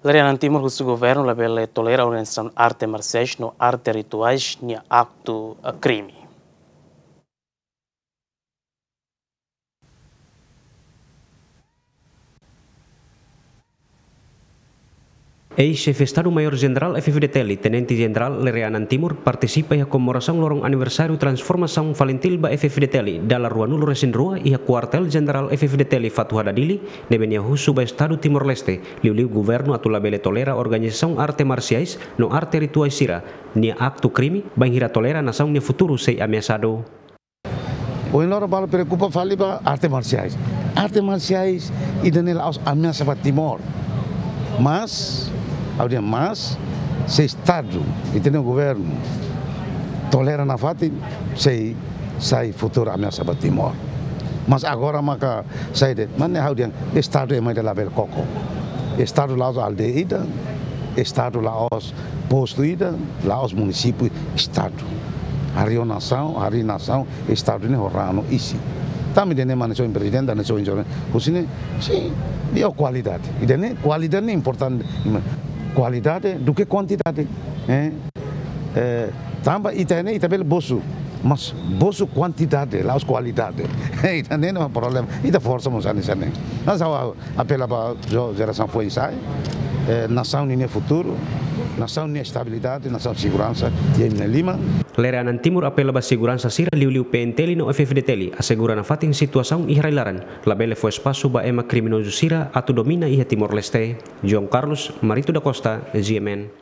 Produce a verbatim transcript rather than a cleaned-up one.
Lere-anan Timor husu governu labele tolera organizasaun arte marsiais no arte rituais nia aktu, eh, krime. Eis-Xefe Estadu Maiór Jenerál F-FDTL, Tenente Jenerál Lere-anan Timur, partisipa iha komemorasaun loron aniversáriu transformasaun FALINTIL ba F-FDTL dala ruanulu resin rua iha Kuartél Jenerál F-FDTL Fatuhada, Dili, ne'ebé nia husu ba Estadu Timor-Leste, liuliu governu atu labele tolera organizasaun arte marsiais no arte rituais sira nia aktu krime, bainhira tolera nasaun nia futuru sei ameasadu. Ohin loron balu preokupa fali ba arte marsiais. Arte marsiais ida-ne'e la'ós ameasa ba Timor. Mas, ha'u dehan mas, se Estadu, ita-nia governu, tolera nafatin, sei sai futuru ameasa ba Timor. Mas agora maka sai de'it, mas ne'e ha'u dehan Estadu ema ida labele koko. Estadu la'ós aldeia ida, Estadu la'ós postu ida, la'ós munisípiu, Estadu. Harii nasaun, harii nasaun, Estadu ne'e ho ranu isin. Tanba ida-ne'e mak hanesan prezidente, hanesan jornal, husi ne'e, sin, iha kualidade. Ida-ne'e, kualidade ne'e importante. Kualidade duké kuantidade. Eh, eh, tanba ita ne'e, ita bele bosu. Mas bosu kuantidade, la'ós kualidade. Ita ne'e mak problema. Ita forsa mós hanesan ne'e. Mas ha'u apela ba jo-, jerasaun foin-sa'e, eh, nasaun ninia futuru, nasaun nia estabilidade, nasaun seguransa, iha nia liman. Lere-anan Timur apela ba seguransa sira liuliu P N T L no F-FDTL, asegura nafatin situasaun iha rai-laran, labele fó espasu ba ema kriminozu sira atu domina iha Timor-Leste. João Carlos Marito da Costa, G M N.